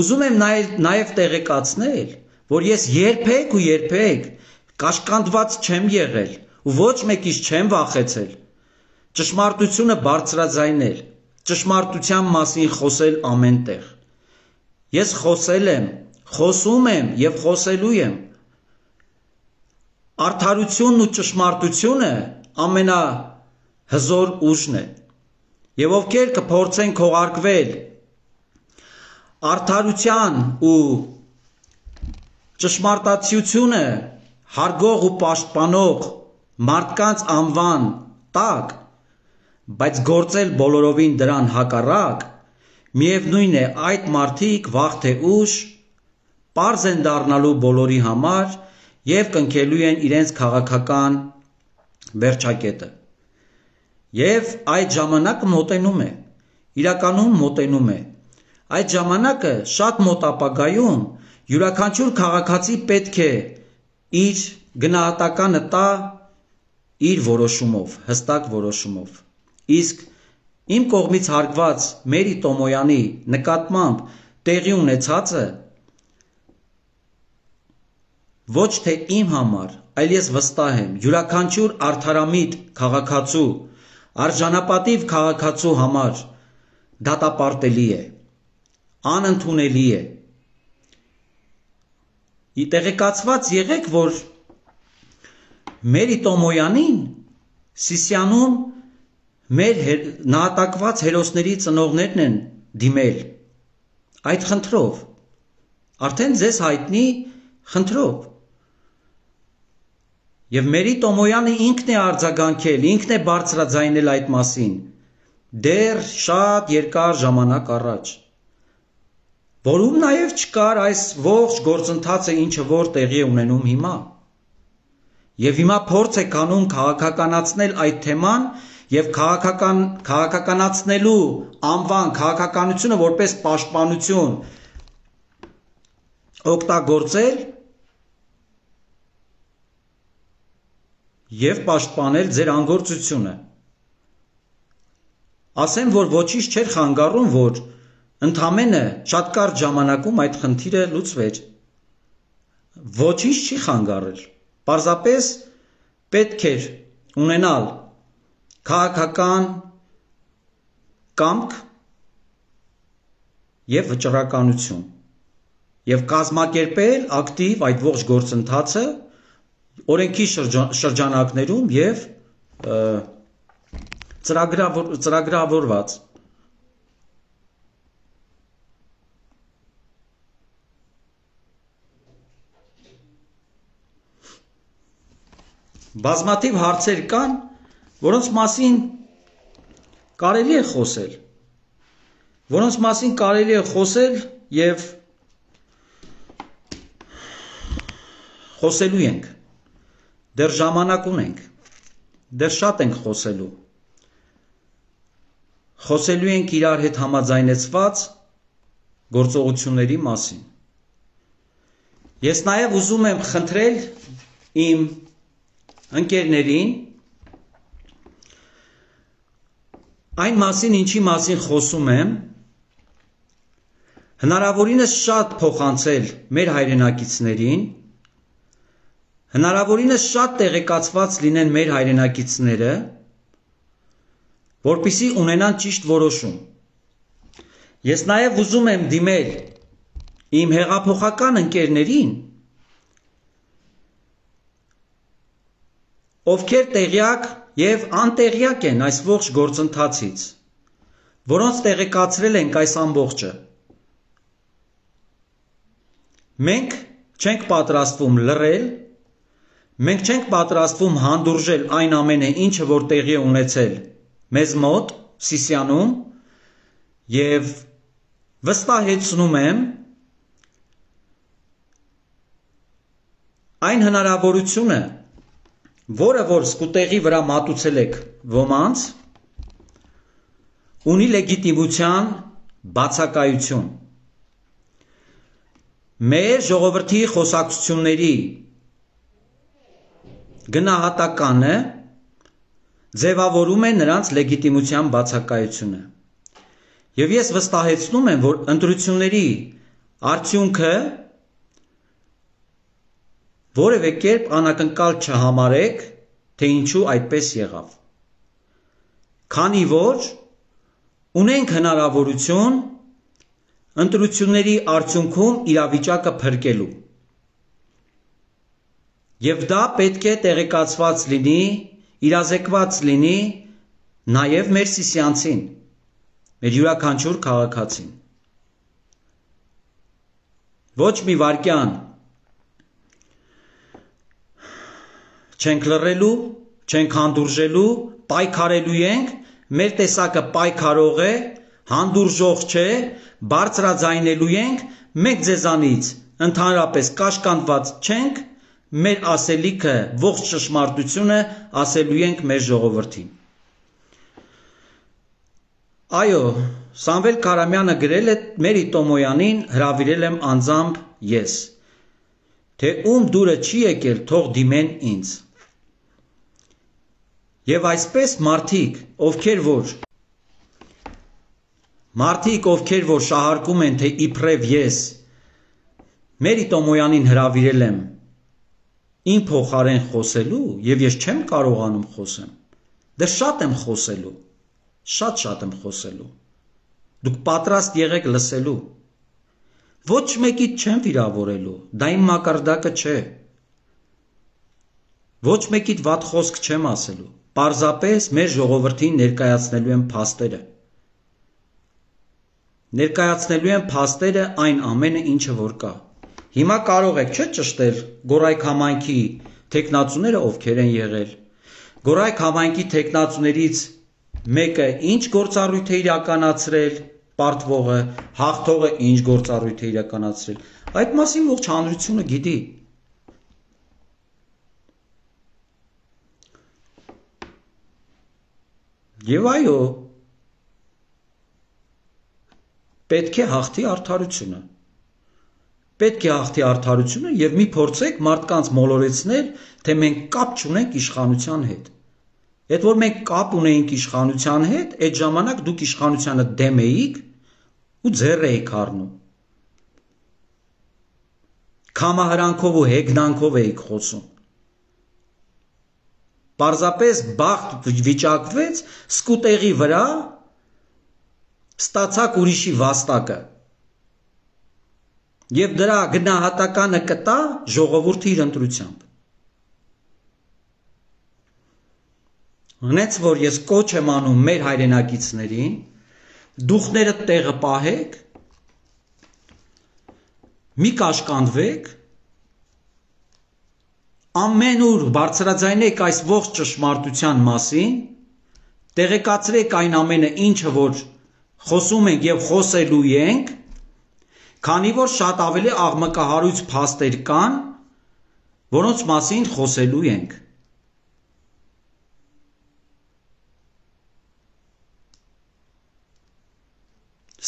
Ուզում եմ նաև տեղեկացնել, որ ես երբեք ու երբեք կաշկանդված չեմ եղել ու ոչ մեկից չեմ վախեցել ճշմարտությունը բարձրաձայնել, ճշմարտության մասին խոսել ամեն տեղ։ Ես խոսել եմ, խոսում եմ եւ խոսելու եմ։ Արդարությունն ու ճշմարտությունը ամենահզոր ուժն է։ Եվ ովքեր կփորձեն քողարկվել արդարության ու ճշմարտացիությունը հարգող ու պաշտպանող մարդկանց անվան տակ, բայց գործել բոլորովին դրան հակառակ, միևնույն է այդ մարդիկ վաղ թե ուշ պարզ են դառնալու բոլորի համար եւ կնքելու են իրենց քաղաքական վերջակետը։ Եվ այդ ժամանակը մոտենում է, իրականում մոտենում է։ Այդ ժամանակը շատ մոտ ապագայում յուրաքանչյուր քաղաքացի պետք է իր գնահատականը տա իր որոշումով, հստակ որոշումով։ Իսկ իմ կողմից հարգված Մերի Տոմոյանի նկատմամբ տեղի ունեցածը ոչ թե իմ համար, այլ ես վստահ եմ, յուրաքանչյուր արդարամիտ քաղաքացու, արժանապատիվ քաղաքացու համար դատապարտելի է, անընդունելի է։ Տեղեկացված եղեք, որ Մերի Տոմոյանին Սիսիանում մեր նահատակված հերոսների ծնողներն են դիմել այդ խնդրով, արդեն ձեզ հայտնի խնդրով։ Եվ Մերի Տոմոյանը ինքն է արձագանքել, ինքն է բարձրաձայնել այդ մասին, դեռ շատ երկար ժամանակ առաջ, որում նաև չկար այս ողջ գործընթացը, ինչը որ տեղի է ունենում հիմա։ Եվ հիմա փորձ է կանում քաղաքականացնել այդ թեման եւ քաղաքականացնելու անվան քաղաքականությունը որպես պաշտպանություն օգտագործել եւ պաշտպանել ձեր անգործությունը։ Ասեմ, որ ոչինչ չէր խանգարում, որ ընդամենը շատ կարճ ժամանակում այդ խնդիրը լուծվեր։ Ոչինչ չի խանգարել։ Պարզապես պետք էր ունենալ քաղաքական կամք և վճռականություն և կազմակերպել ակտիվ այդ ողջ գործընթացը օրենքի շրջանակներում և ծրագրավորված։ Բազմաթիվ հարցեր կան, որոնց մասին կարելի է խոսել և խոսելու ենք, դեռ ժամանակ ունենք, դեռ շատ ենք խոսելու ենք իրար հետ համաձայնեցված գործողությունների մասին։ Ես նաև ուզում եմ խնդրել իմ ընկերներին այն մասին, ինչի մասին խոսում եմ, հնարավորինս շատ փոխանցել մեր հայրենակիցներին, հնարավորինս շատ տեղեկացված լինեն մեր հայրենակիցները, որպեսզի ունենան ճիշտ որոշում։ Ես նաև ուզում եմ դիմել իմ հեղափոխական ընկերներին, ովքեր տեղյակ և անտեղյակ են այս ողջ գործընթացից, որոնց տեղեկացրել ենք այս ամբողջը։ Մենք չենք պատրաստվում լռել, մենք չենք պատրաստվում հանդուրժել այն ամենը, ինչը որ տեղի է ունեցել մեզ մոտ, Սիսիանում, և վստահեցնում եմ այն հնարավորությունը, որը որ սկուտեղի վրա մատուցել եք ոմանց, ունի լեգիտիմության բացակայություն։ Մեր ժողովրդի խոսակցությունների գնահատականը ձևավորում է նրանց լեգիտիմության բացակայությունը։ Եվ ես վստահեցնում եմ, որ ընտրությունների արդյունքը որևէ կերպ անակնկալ չհամարեք, թե ինչու այդպես եղավ։ Քանի որ ունենք հնարավորություն ընտրությունների արդյունքում իրավիճակը փրկելու։ Եվ դա պետք է տեղեկացված լինի, իրազեկված լինի նաև մեր սիսիանցին, մեր յուրաքանչյուր քաղաքացին։ Ոչ մի վայրկյան չենք լռելու, չենք հանդուրժելու, պայքարելու ենք, մեր տեսակը պայքարող է, հանդուրժող չէ, բարձրաձայնելու ենք, մենք ձեզանից ընդհանրապես կաշկանդված չենք, մեր ասելիքը, ողջ ճշմարտությունը ասելու ենք մեր ժողովրդին։ Այո, Սամվել Քարամյանը գրել է Մերի Տոմոյանին հրավիրել եմ անձամբ ես, թե ում դուրը չի եկել, թող դիմեն ինձ։ Եվ այսպես մարդիկ, ովքեր որ շահարկում են, թե իբրև ես Մերի Տոմոյանին հրավիրել եմ իմ փոխարեն խոսելու, և ես չեմ կարողանում խոսեմ, դեռ շատ եմ խոսելու, շատ եմ խոսելու, դուք պատրաստ եղեք լսելու, ոչ մեկիդ չեմ վիրավորելու, դա իմ մակարդակը չէ, ոչ մեկիդ վատ խոսք չեմ ասելու, պարզապես մեր ժողովրդին ներկայացնելու եմ փաստերը։ Ներկայացնելու եմ փաստերը այն ամենը, ինչը որ կա։ Հիմա կարող եք չէ ճշտել Գորայք համայնքի թեկնածուները ովքեր են եղել։ Գորայք համայնքի թեկնածուներից մեկը ինչ գործառույթ է իրականացրել, պարտվողը, հաղթողը ինչ գործառույթ է իրականացրել։ Այդ մասին ողջ հանրությունը գիտի։ Եվ այո, պետք է հաղթի արդարությունը։ Պետք է հաղթի արդարությունը և մի փորձեք մարդկանց մոլորեցնել, թե մենք կապ չունենք իշխանության հետ։ Այդ որ մենք կապ ունեինք իշխանության հետ, այդ ժամանակ դուք իշխանությանը դեմ էիք ու ձեռ էիք առնում։ Քամահրանքով ու հեգնանքով էիք խոսում։ Պարզապես բախտ վիճակվեց, սկուտեղի վրա ստացաք ուրիշի վաստակը, եւ դրա գնահատականը կտա ժողովրդի իր ընտրությամբ։ Հենց որ ես կոչ եմ անում մեր հայրենակիցներին, դուխները տեղը պահեք, մի կաշկանդվեք, ամենուր բարձրաձայնեք այս ողջ ճշմարտության մասին, տեղեկացրեք այն ամենը, ինչը որ խոսում ենք եւ խոսելու ենք, քանի որ շատ ավելի աղմկահարույց փաստեր կան, որոնց մասին խոսելու ենք։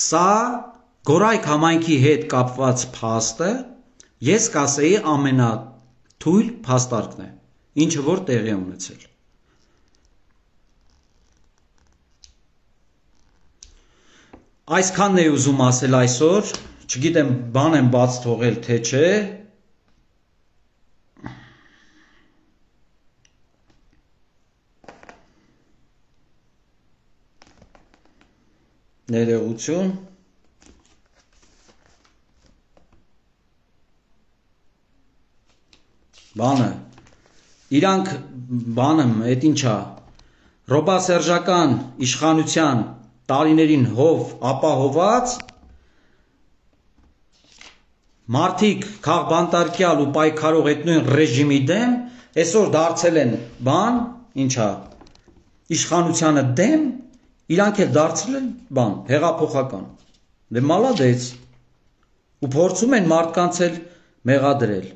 Սա Գորայք համայնքի հետ կապված փաստը, ես կասեի ամենաթույլ փաստարկն է, ինչը որ տեղի է ունեցել։ Այսքանն էի ուզում ասել այսօր, չգիտեմ բան եմ բաց թողել թե չէ։ Ներողություն։ Բանը, իրանք բանը, էդ ինչա, ռոբասերժական իշխանության տարիներին հով ապահոված, մարդիկ քաղբանտարկյալ ու պայքարող այդ նույն ռեժիմի դեմ, այսօր դարձել են բան, ինչա, իշխանությանը դեմ, իրանք էլ դարձել են բան, հեղափոխական, դե մալադեց, ու փորձում են մարդկանց էլ մեղադրել։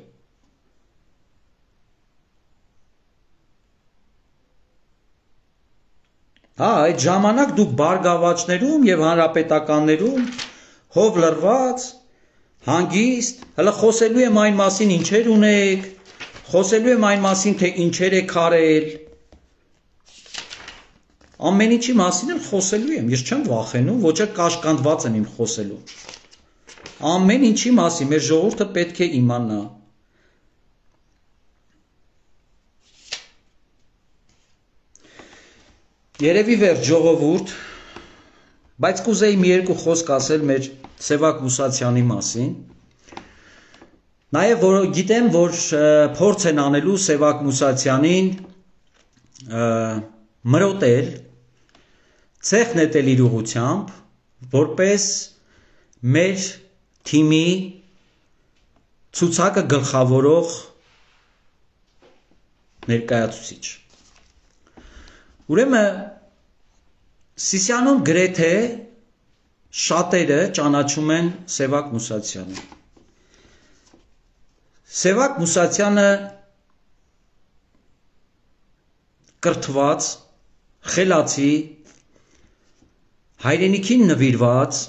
Հա, այդ ժամանակ դուք բարգավաճներում եւ հանրապետականներում հով լրված, հանգիստ, հələ խոսելու եմ այն մասին ինչեր ունեք, խոսելու եմ այն մասին թե ինչեր եք արել, ամեն ինչի մասին էլ խոսելու եմ, ես չեմ վախենում, ոչ էլ կաշկանդված եմ իմ խոսելու, ամեն ինչի մասին մեր ժողովուրդը պետք է իմանա։ Երևի վերջ ժողովուրդ, բայց կուզեի մի երկու խոսք ասել մեր Սևակ Մուսացյանի մասին, նաև որ գիտեմ, որ փորձ են անելու Սևակ Մուսացյանին մրոտել, ցեխ նետել իր ուղությամբ, որպես մեր թիմի ցուցակը գլխավորող ներկայացուցիչ։ Ուրեմն Սիսիանում գրեթե շատերը ճանաչում են Սևակ Մուսացյանին։ Սևակ Մուսացյանը կրթված, խելացի, հայրենիքին նվիրված,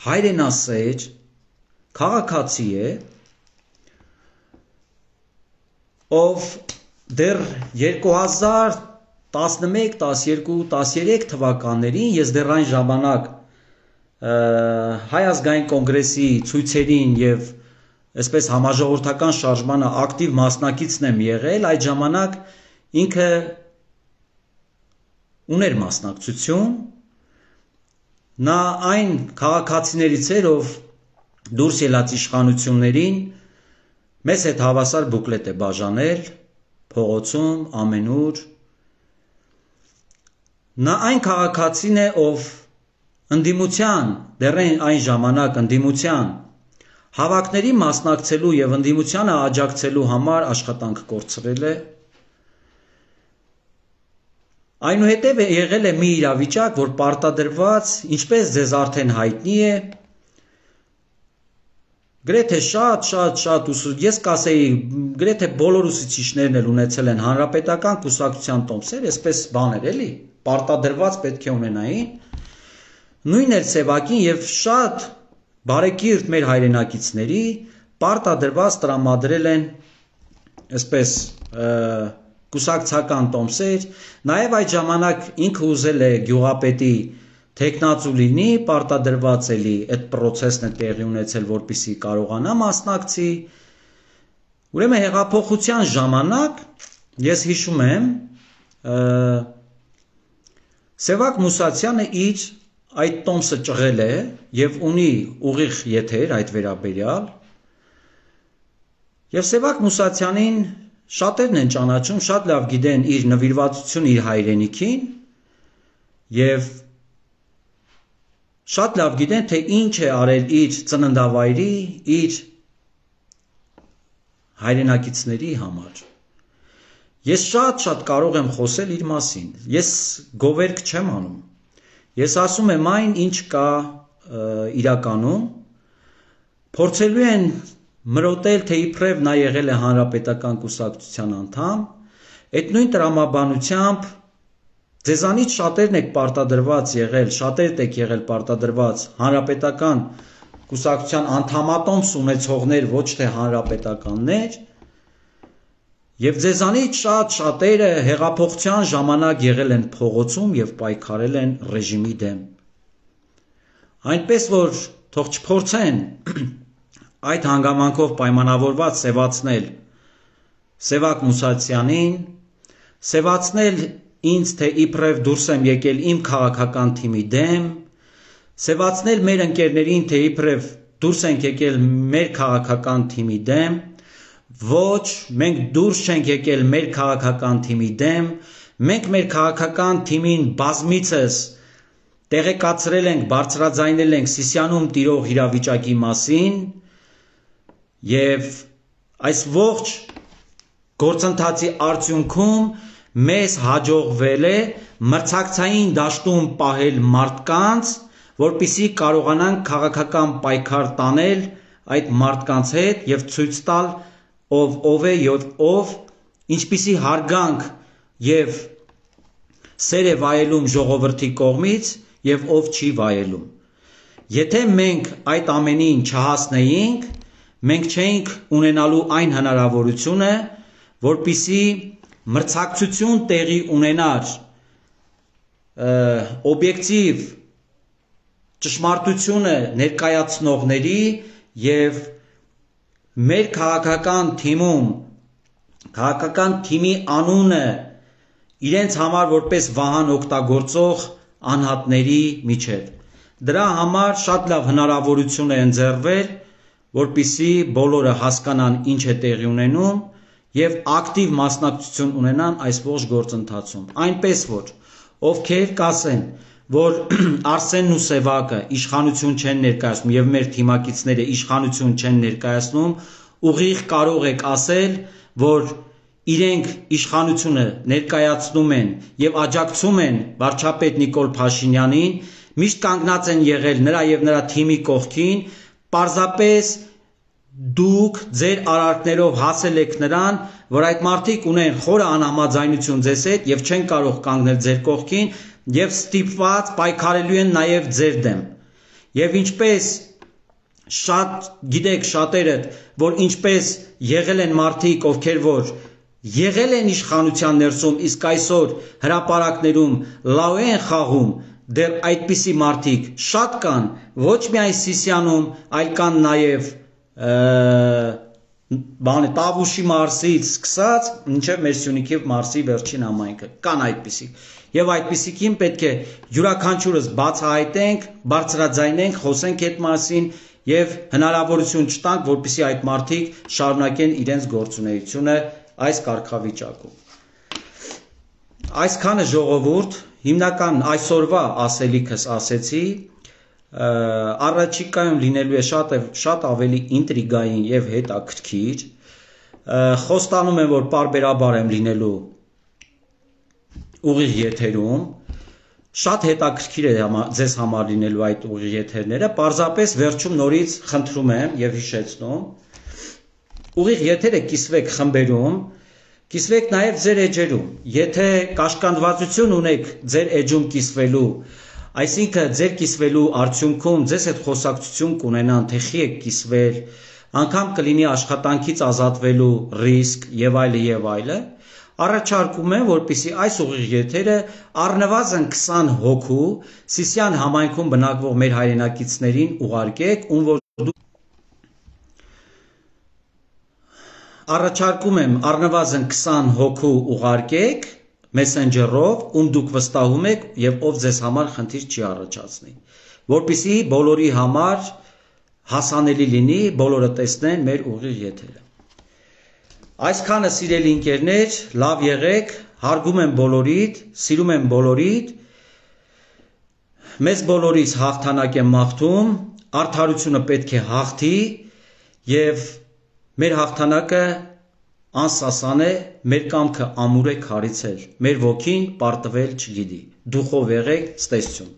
հայրենասեր, քաղաքացի է, ով դեռ 2011, 12, 13 թվականներին ես դեռ այն ժամանակ Հայ ազգային կոնգրեսի ցույցերին եւ այսպես համաժողովրդական շարժմանը ակտիվ մասնակիցն եմ եղել, այդ ժամանակ ինքը ուներ մասնակցություն, նա այն քաղաքացիներից էր, ով դուրս ելած իշխանություններին մեզ հետ հավասար բուկլետ է բաժանել, փողոցում, ամենուր, նա այն քաղաքացին է, ով ընդդիմության, դեռ այն ժամանակ ընդդիմության հավաքների մասնակցելու եւ ընդդիմությանը աջակցելու համար աշխատանք կորցրել է։ Այնուհետև եղել է մի իրավիճակ, որ պարտադրված, ինչպես ձեզ արդեն հայտնի է, գրեթե շատ ես կասեի, գրեթե բոլոր ուսուցիչներն էլ ունեցել են հանրապետական կուսակցության տոմսեր, այսպես բաներ էլի, պարտադրված պետք է ունենային, նույն էլ Սևակին եւ շատ բարեկիրթ մեր հայրենակիցների պարտադրված տրամադրել են այսպես կուսակցական տոմսեր, նաեւ այդ ժամանակ ինքը ուզել է գյուղապետի թեկնածու լինի, պարտադրված էլի այդ process-ն է տեղի ունեցել, որպեսզի կարողանա մասնակցի։ Ուրեմն հեղափոխության ժամանակ ես հիշում եմ Սևակ Մուսացյանը իր այդ տոմսը ճղել է եւ ունի ուղիղ եթեր այդ վերաբերյալ եւ Սևակ Մուսացյանին շատերն են ճանաչում, շատ լավ գիտեն իր նվիրվածությունը իր հայրենիքին եւ շատ լավ գիտեն թե ինչ է արել իր ծննդավայրի, իր հայրենակիցների համար։ Ես շատ կարող եմ խոսել իր մասին։ Ես գովերք չեմ անում։ Ես ասում եմ այն, ինչ կա իրականում, փորձելու են մրոտել, թե իբրև նա եղել է հանրապետական կուսակցության անդամ, այդ նույն տրամաբանությամբ ձեզանից շատերն եք պարտադրված եղել, շատերդ եք եղել պարտադրված հանրապետական կուսակցության անդամատոմս ունեցողներ, ոչ թե հանրապետականներ, եւ ձեզանից շատերը հեղափոխության ժամանակ եղել են փողոցում եւ պայքարել են ռեժիմի դեմ։ Այնպես որ թող չփորձեն այդ հանգամանքով պայմանավորված սևացնել Սևակ Մուսացյանին, սևացնել ինձ, թե իբրև դուրս եմ եկել իմ քաղաքական թիմի դեմ, սևացնել մեր ընկերներին, թե իբրև դուրս ենք եկել մեր քաղաքական թիմի դեմ, ոչ, մենք դուրս չենք եկել մեր քաղաքական թիմի դեմ, մենք մեր քաղաքական թիմին բազմիցս տեղեկացրել ենք, բարձրաձայնել ենք Սիսիանում տիրող իրավիճակի մասին եւ այս ողջ գործընթացի արդյունքում մեզ հաջողվել է մրցակցային դաշտում պահել մարդկանց, որպեսզի կարողանանք քաղաքական պայքար տանել այդ մարդկանց հետ եւ ցույց տալ ով է եւ ով ինչպիսի հարգանք եւ սեր է վայելում ժողովրդի կողմից եւ ով չի վայելում։ Եթե մենք այդ ամենին չհասնեինք, մենք չէինք ունենալու այն հնարավորությունը, որպիսի մրցակցություն տեղի ունենար օբյեկտիվ ճշմարտությունը ներկայացնողների եւ մեր քաղաքական թիմում քաղաքական թիմի անունը իրենց համար որպես վահան օգտագործող անհատների միջև։ Դրա համար շատ լավ հնարավորություն է ընձեռվել, որպեսզի բոլորը հասկանան ինչ է տեղի ունենում եւ ակտիվ մասնակցություն ունենան այս ողջ գործընթացում։ Այնպես որ ովքեր կասեն, որ Արսենն ու Սևակը իշխանություն չեն ներկայացնում եւ մեր թիմակիցները իշխանություն չեն ներկայացնում, ուղիղ կարող եք ասել, որ իրենք իշխանությունը ներկայացնում են եւ աջակցում են վարչապետ Նիկոլ Փաշինյանին, միշտ կանգնած են եղել նրա եւ նրա թիմի կողքին, պարզապես դուք ձեր արարքներով հասել եք նրան, որ այդ մարդիկ ունեն խորը անհամաձայնություն ձեզ հետ եւ չեն կարող կանգնել ձեր կողքին եւ ստիպված պայքարելու են նաեւ ձեր դեմ։ Եվ ինչպես շատ գիտեք շատերդ, որ ինչպես եղել են մարդիկ, ովքեր որ եղել են իշխանության ներսում, իսկ այսօր հրապարակներում լավ են խաղում, դեռ այդպիսի մարդիկ շատ կան, ոչ միայն Սիսիանում, այլ կան նաեւ Տավուշի մարզից սկսած մինչև մեր Սյունիքի մարզի վերջին համայնքը կան այդպիսիք եւ այդպիսիքին պետք է յուրաքանչյուրս բացահայտենք, բարձրաձայնենք, խոսենք այդ մասին եւ հնարավորություն չտանք, որպեսզի այդ մարդիկ շարունակեն իրենց գործունեությունը այս կարգավիճակում։ Այսքանը ժողովուրդ, հիմնական այսօրվա ասելիքս ասեցի, առաջիկայում լինելու է շատ ավելի ինտրիգային եւ հետաքրքիր, խոստանում եմ, որ պարբերաբար եմ լինելու ուղիղ եթերում, շատ հետաքրքիր է ձեզ համար լինելու այդ ուղիղ եթերները, պարզապես վերջում նորից խնդրում եմ եւ հիշեցնում, ուղիղ եթերը կիսվեք խմբերում, կիսվեք նաեւ ձեր էջերում, եթե կաշկանդվածություն ունեք ձեր էջում կիսվելու, այսինքն ձեր կիսվելու արդյունքում ձեզ հետ խոսակցություն կունենան, թե խի եք կիսվել, անգամ կլինի աշխատանքից ազատվելու ռիսկ եւ այլը, առաջարկում եմ, որպեսզի այս ուղիղ եթերը առնվազն 20 հոգու Սիսիան համայնքում բնակվող մեր հայրենակիցներին ուղարկեք, ում որ առաջարկում եմ առնվազն 20 հոգու ուղարկեք, Messenger-ով, ում դուք վստահում եք եւ ով ձեզ համար խնդիր չի առաջացնի, որպեսզի բոլորի համար հասանելի լինի, բոլորը տեսնեն մեր ուղիղ եթերը։ Այսքանը սիրելի ընկերներ, լավ եղեք, հարգում եմ բոլորիդ, սիրում եմ բոլորիդ, մեզ բոլորիս հաղթանակ եմ մաղթում, արդարությունը պետք է հաղթի եւ մեր հաղթանակը անսասան է, մեր կամքը ամուր է քարիցել, մեր ոգին պարտվել չգիտի, դուխով եղեք, ցտեսություն։